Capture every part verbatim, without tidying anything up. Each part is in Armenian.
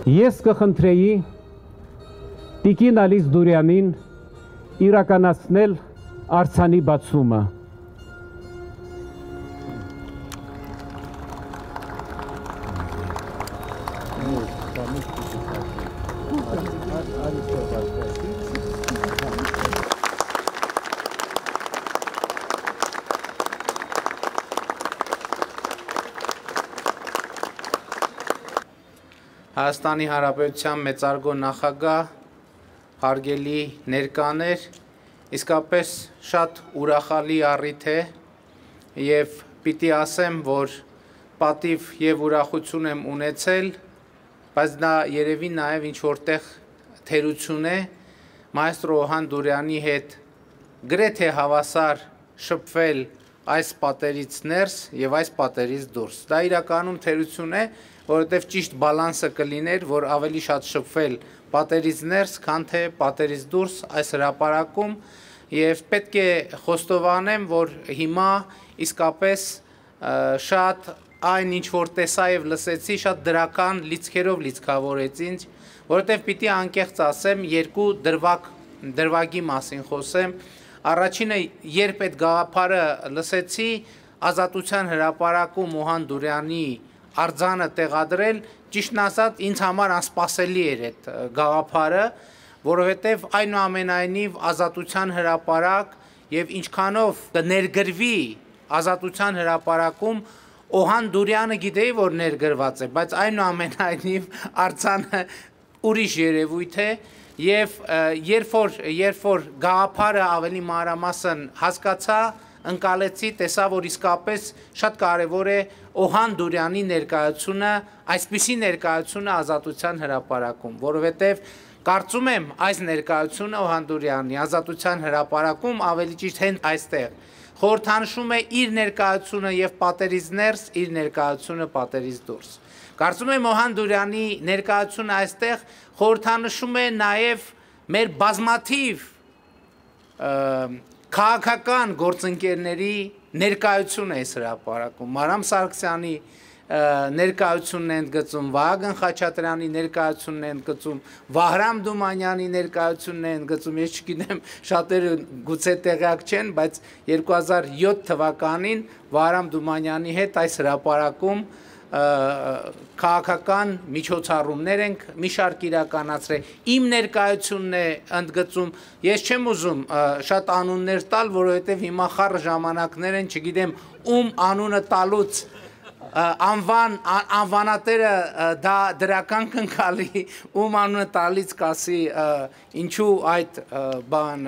Ես կխնդրեի Տիկին Ալիս Դուրյանին իրականացնել արձանի բացումը։ Հայաստանի Հանրապետության մեծարգո նախագահ, հարգելի ներկաներ, իսկապես շատ ուրախալի առիթ է եւ պիտի ասեմ, որ պատիվ եւ ուրախություն եմ ունեցել, բայց դա երևի նաեւ ինչ որտեղ թերություն է մայստրո Օհան Դուրյանի հետ գրեթե հավասար շփվել այս պատերից ներս եւ այս պատերից դուրս։ Դա իրականում թերություն է, որովհետև ճիշտ բալանսը կլիներ, որ ավելի շատ շփվել պատերից ներս, քան թե պատերից դուրս այս հրապարակում եւ պետք է խոստովանեմ, որ հիմա իսկապես շատ այն ինչ որ տեսա եւ լսեցի, շատ դրական լիցքերով լիցքավորեց ինձ, որովհետև պիտի անկեղծ ասեմ, երկու դրվագ դրվագի մասին խոսեմ։ Առաջինը, երբ այդ գաղափարը լսեցի, Ազատության հրապարակում Օհան Դուրյանի արձանը տեղադրել, ճիշտն ասած, ինձ համար անսպասելի էր այդ գաղափարը, որովհետև այնուամենայնիվ Ազատության հրապարակ եւ ինչքանով կներգրվի Ազատության հրապարակում Օհան Դուրյանը գիտեի, որ ներգրված է, բայց այնուամենայնիվ արձանը ուրիշ երևույթ է եւ երբ որ երբ որ գաղափարը ավելի մանրամասն հասկացա, ընկալեցի, տեսա, որ իսկապես շատ կարևոր է Օհան Դուրյանի ներկայությունը, այսպիսի ներկայությունը Ազատության հրապարակում, որովհետև կարծում եմ այս ներկայությունը Օհան Դուրյանի Ազատության հրապարակում ավելի ճիշտ հենց այստեղ խորհրդանշում է իր ներկայությունը եւ պատերից ներս, իր ներկայությունը պատերից դուրս։ Կարծում եմ Օհան Դուրյանի ներկայությունը այստեղ խորհրդանշում է նաեւ մեր բազմաթիվ քաղաքական գործընկերների ներկայությունը այս հրապարակում, Մարամ Սարգսյանի ներկայությունն են ընդգծում, Վահագն Խաչատրյանի ներկայությունն են ընդգծում, Վահրամ Դումանյանի ներկայությունն են ընդգծում, ես չգիտեմ, շատերը գուցե տեղյակ չեն, բայց երկու հազար յոթ թվականին Վահրամ Դումանյանի հետ այս հրապարակում քաղաքական միջոցառումներ ենք մի շարք իրականացրել, իմ ներկայությունն է ընդգծում, ես չեմ ուզում շատ անուններ տալ, որովհետև հիմա խառը ժամանակներ են, չգիտեմ ում անունը տալուց անվան անվանատերը դա դրական կընկալի, ում անունը տալից կասի ինչու այդ բան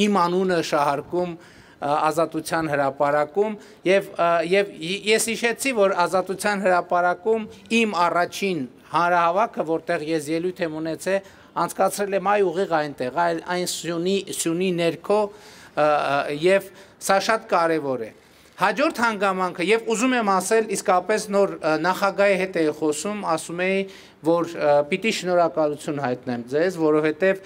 իմ անունը շահարկում Ազատության հրապարակում եւ եւ ես հիշեցի, որ Ազատության հրապարակում իմ առաջին հանրահավաքը, որտեղ ես ելույթ եմ ունեցել, անցկացրել եմ այ ուղիղ այնտեղ, այն սյունի սյունի ներքո եւ սա շատ կարեւոր է։ Հաջորդ հանգամանքը եւ ուզում եմ ասել, իսկապես նոր նախագահի հետ էի խոսում, ասում էի, որ պիտի շնորհակալություն հայտնեմ ձեզ, որովհետեւ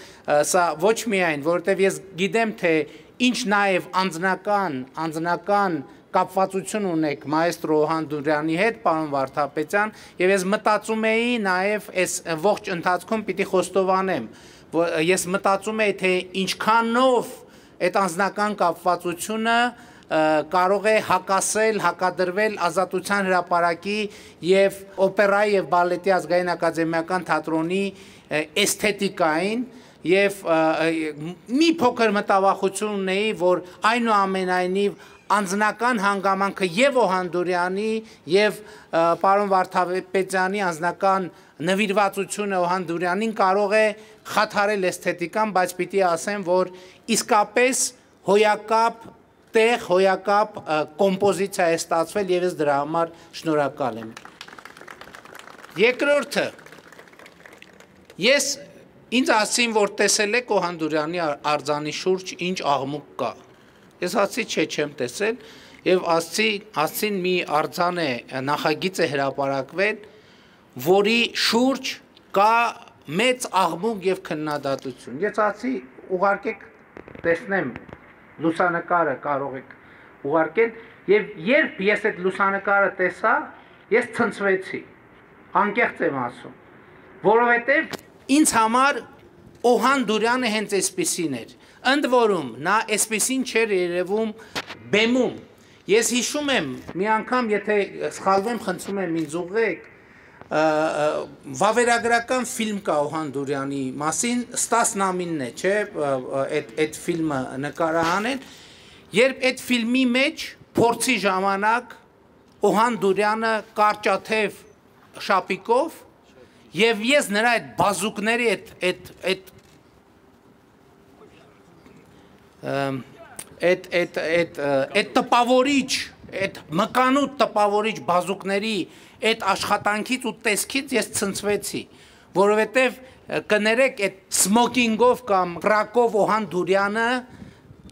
սա ոչ միայն, որովհետեւ ես գիտեմ, թե ինչ նաև անձնական, անձնական կապվածություն ունեք մայստրո Օհան Դուրյանի հետ, պարոն Վարդապետյան, եւ ես մտածում էի նաև այս ողջ ընթացքում պիտի խոստովանեմ, որ ես մտածում էի, թե ինչքանով այդ անձնական կապվածությունը կարող է հակասել, հակադրվել Ազատության հրապարակի եւ օպերայի եւ բալետի ազգային ակադեմիական թատրոնի էսթետիկային Եվ մի փոքր մտավախություն ունեի, որ այնուամենայնիվ անձնական հանգամանքը եւ Օհան Դուրյանի եւ պարոն Վարդապետյանի անձնական նվիրվածությունը Օհան Դուրյանին կարող է խաթարել էսթետիկան, բայց պիտի ասեմ, որ իսկապես հոյակապ տեղ, հոյակապ կոմպոզիցիա է ստացվել եւ ես դրա համար շնորհակալ եմ։ Երկրորդը, ես Ինձ ասին, որ տեսել եք Օհան Դուրյանի արձանի շուրջ ինչ աղմուկ կա։ Ես ասացի, չէ, չեմ տեսել եւ ասացի, ասին մի արձան է, նախագիծ է հրապարակվել, որի շուրջ կա մեծ աղմուկ եւ քննադատություն։ Ես ասացի, ուղարկեք տեսնեմ լուսանկարը կարող եք ուղարկել եւ երբ ես այդ լուսանկարը տեսա, ես ցնցվեցի։ Անկեղծ եմ ասում։ որովհետև ինձ համար Օհան Դուրյանը հենց այսպիսին էր, ընդ որում նա այսպիսին չէր երևում բեմում, ես հիշում եմ մի անգամ, եթե սխալվեմ, խնդրում եմ ինձ ուղղեք, վավերագրական ֆիլմ կա Օհան Դուրյանի մասին, Ստաս Նամինն է, չէ, այդ ֆիլմը նկարահանել, երբ այդ ֆիլմի մեջ փորձի ժամանակ Օհան Դուրյանը կարճաթև շապիկով եւ ես նրա այդ բազուկների այդ այդ այդ այդ այդ այդ տպավորիչ, այդ մկանուտ տպավորիչ բազուկների այդ աշխատանքից ու տեսքից ես ցնցվեցի, որովհետև կներեք այդ սմոկինգով կամ կրակով Օհան Դուրյանը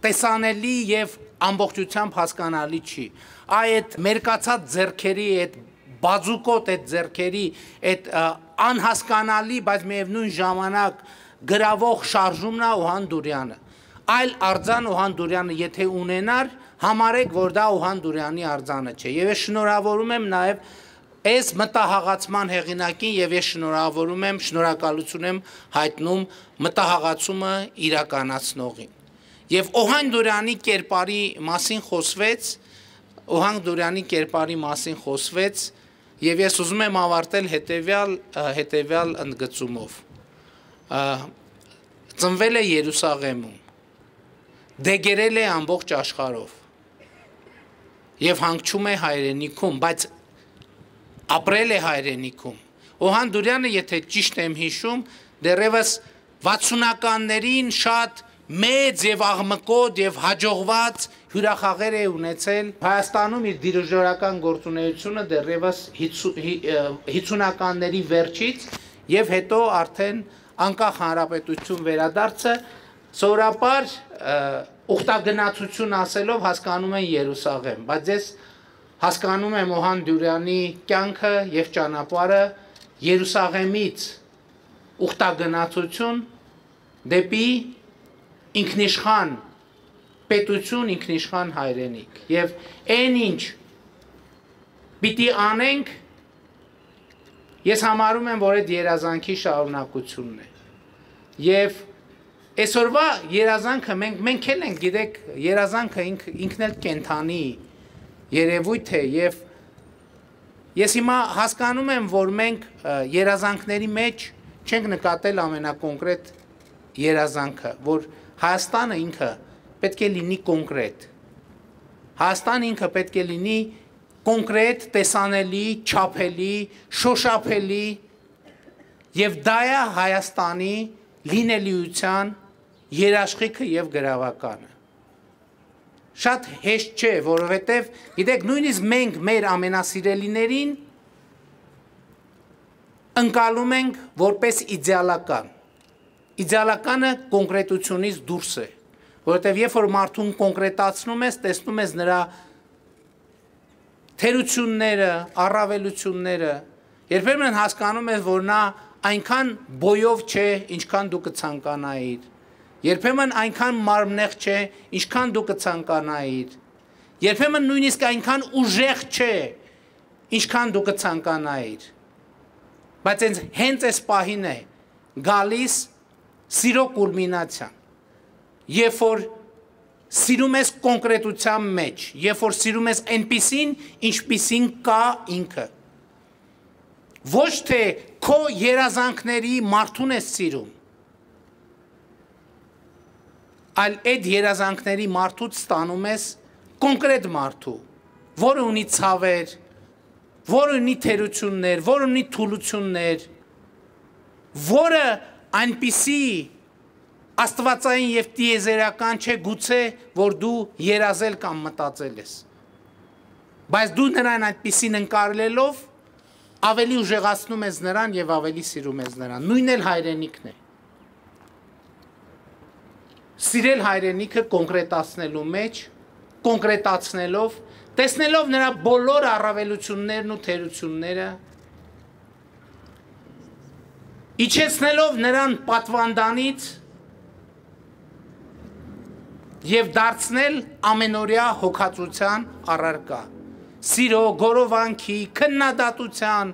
տեսանելի եւ ամբողջությամբ հասկանալի չի։ Այ այդ մերկացած ձեռքերի, այդ բազուկոտ այդ ձեռքերի, այդ անհասկանալի, բայց միևնույն ժամանակ գրավող շարժումն է Օհան Դուրյանը։ Այլ արձան Օհան Դուրյանը եթե ունենար, համարեք, որ դա Օհան Դուրյանի արձանը չէ։ Եվ ես շնորհավորում եմ նաեւ այս մտահաղացման հեղինակին եւ ես շնորհավորում եմ, շնորհակալություն եմ հայտնում մտահաղացումը իրականացնողին։ Եվ Օհան Դուրյանի կերպարի մասին խոսվեց, Օհան Դուրյանի կերպարի մասին խոսվեց, եւ ես ուզում եմ ավարտել հետեւյալ հետեւյալ ընդգծումով։ Ծնվել է Երուսաղեմում, դեգերել է ամբողջ աշխարհով եւ հանգչում է հայրենիքում, բայց ապրել է հայրենիքում։ Օհան Դուրյանը, եթե ճիշտ եմ հիշում, դեռևս վաթսունականներին շատ մեծ եւ աղմկոտ եւ հաջողված հյուրախաղեր է ունեցել Հայաստանում իր դիրիժորական գործունեությունը դեռևս հիսունականների վերջից եւ հետո արդեն անկախ հանրապետություն վերադարձը սովորաբար ուխտագնացություն ասելով հասկանում են Երուսաղեմ, բայց ես հասկանում եմ Օհան Դուրյանի կյանքը եւ ճանապարհը Երուսաղեմից ուխտագնացություն դեպի ինքնիշխան պետություն, ինքնիշխան հայրենիք եւ այն ինչ պիտի անենք, ես համարում եմ, որ այդ երազանքի շարունակությունն է եւ այսօրվա երազանքը մենք մենք էլ ենք, գիտեք, երազանքը ինք, ինքն էլ կենթանի երևույթ է եւ ես հիմա հասկանում եմ, որ մենք երազանքների մեջ չենք նկատել ամենակոնկրետ երազանքը, որ Հայաստանը ինքը պետք է լինի կոնկրետ։ Հայաստանը ինքը պետք է լինի կոնկրետ, տեսանելի, չափելի, շոշափելի եւ դա է Հայաստանի լինելիության երաշխիքը եւ գրավականը։ Շատ հեշտ չէ, որովհետև գիտեք, նույնիսկ մենք մեր ամենասիրելիներին ընկալում ենք որպես իդեալական։ Իդեալականը կոնկրետությունից դուրս է, որովհետև երբ որ մարդուն կոնկրետացնում ես, տեսնում ես նրա թերությունները, առավելությունները, երբեմն հասկանում ես, որ նա այնքան բոյով չէ, ինչքան դու կցանկանայիր, երբեմն այնքան մարմնեղ չէ, ինչքան դու կցանկանայիր, երբեմն նույնիսկ այնքան ուժեղ չէ, ինչքան դու կցանկանայիր, բայց հենց այս պահին է գալիս սիրո կուլմինացիան, երբ որ սիրում ես կոնկրետության մեջ, երբ որ սիրում ես այնպիսին, ինչպիսին կա ինքը, ոչ թե քո երազանքների մարդուն ես սիրում, այլ այդ երազանքների մարդուց ստանում ես կոնկրետ մարդու, որը ունի ցավեր, որը ունի թերություններ, որը ունի թուլություններ, որը այնպիսի աստվածային եւ տիեզերական չէ գուցե, որ դու երազել կամ մտածել ես, բայց դու նրան այնպիսին ընկալելով ավելի ուժեղացնում ես նրան եւ ավելի սիրում ես նրան, նույնն էլ հայրենիքն է։ Սիրել հայրենիքը կոնկրետացնելու մեջ, կոնկրետացնելով, տեսնելով նրա բոլոր առավելություններն ու թերությունները, իջեցնելով նրան պատվանդանից եւ դարձնել ամենօրյա հոգացության առարկա, սիրո, գորովանքի, քննադատության,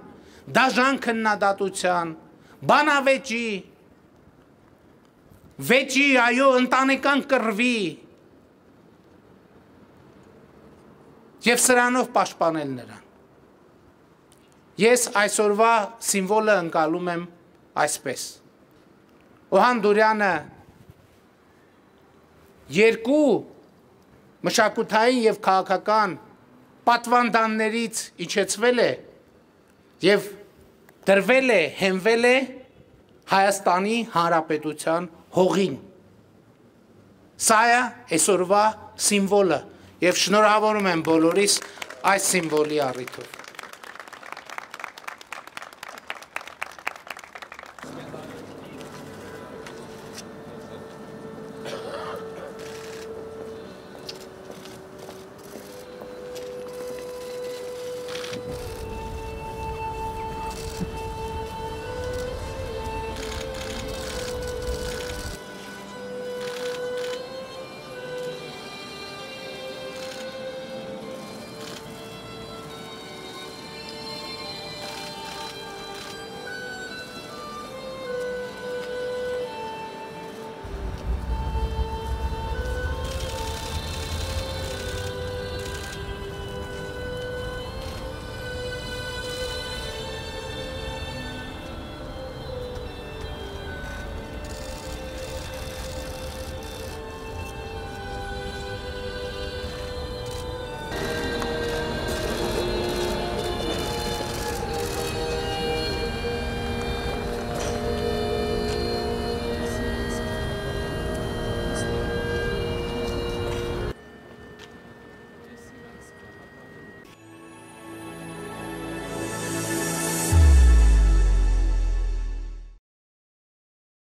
դաժան քննադատության, բանավեճի, վեճի, այո, ընտանեկան կռվի եւ սրանով պաշտպանել նրան։ Ես այսօրվա սիմվոլը ընկալում եմ այսպես։ Օհան Դուրյանը երկու մշակութային եւ քաղաքական պատվանդաններից իջեցվել է եւ դրվել է, հենվել է Հայաստանի Հանրապետության հողին։ Սա է այսօրվա սիմվոլը եւ շնորհավորում եմ բոլորիս այս սիմվոլի առիթով։